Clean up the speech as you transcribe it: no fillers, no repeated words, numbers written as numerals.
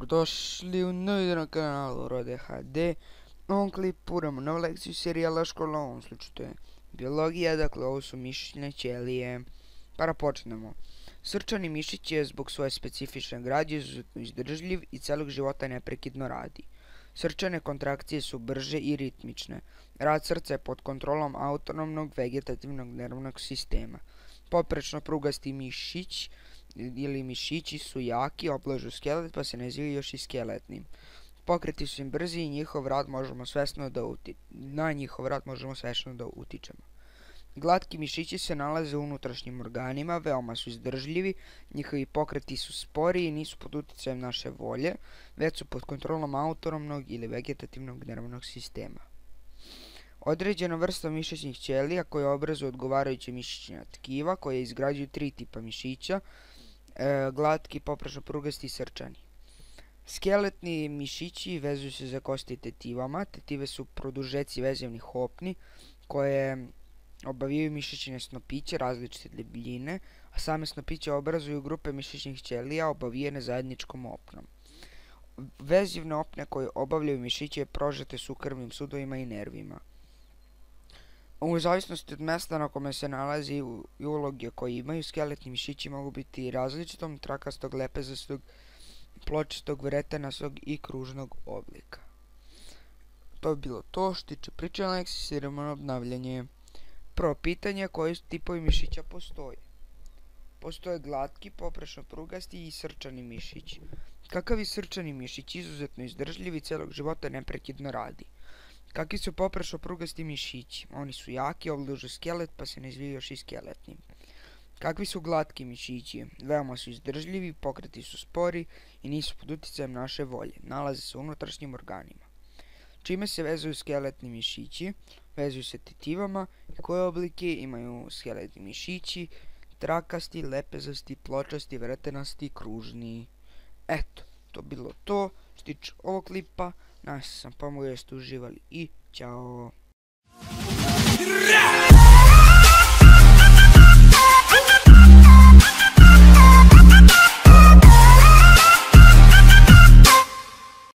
Dobrodošli u novi na kanalu Rode HD. U ovom klipu idemo novu lekciju serijala škola, u ovom slučaju to je biologija, dakle ovo su mišićne ćelije. Pa da počnemo. Srčani mišić je zbog svoje specifične građe izuzetno izdržljiv i celog života neprekidno radi. Srčane kontrakcije su brže i ritmične. Rad srca je pod kontrolom autonomnog vegetativnog nervnog sistema. Poprečno prugasti mišić ili mišići su jaki, oblažu skelet pa se nazivaju još i skeletnim. Pokreti su im brzi i na njihov rad možemo svesno da utičemo. Glatki mišići se nalaze u unutrašnjim organima, veoma su izdržljivi, njihovi pokreti su spori i nisu pod uticajem naše volje, već su pod kontrolom autonomnog ili vegetativnog nervnog sistema. Određena vrsta mišićnih ćelija koje obrazuju odgovarajuće mišićna tkiva koje izgrađuju tri tipa mišića, glatki, poprečno prugasti i srčani. Skeletni mišići vezuju se za kosti tetivama. Tetive su produžeci vezivnih opni koje obavijaju mišićne snopiće različite debljine, a same snopiće obrazuju grupe mišićnih ćelija obavijene zajedničkom opnom. Vezivne opne koje obavljaju mišiće prožete su krvnim sudovima i nervima. U zavisnosti od mesta na kome se nalazi i uloge koje imaju, skeletni mišići mogu biti različitog, trakastog, lepezastog, pločastog, vretenastog i kružnog oblika. To bi bilo to što tiče priče na lekciji, idemo na obnavljanje. Prvo pitanje, koji tipovi mišića postoje? Postoje glatki, poprečno prugasti i srčani mišić. Kakav je srčani mišić? Izuzetno izdržljiv i celog života neprekidno radi. Kakvi su poprečno prugasti mišići? Oni su jaki, oblažu skelet pa se nazivaju još i skeletnim. Kakvi su glatki mišići? Veoma su izdržljivi, pokreti su spori i nisu pod uticajem naše volje. Nalaze se u unutrašnjim organima. Čime se vezuju skeletni mišići? Vezuju se tetivama. I koje oblike imaju skeletni mišići? Trakasti, lepezasti, pločasti, vretenasti i kružni. Eto, to bilo to što tiče ovog klipa. Nadam se sam pomogao, jeste uživali i ćao.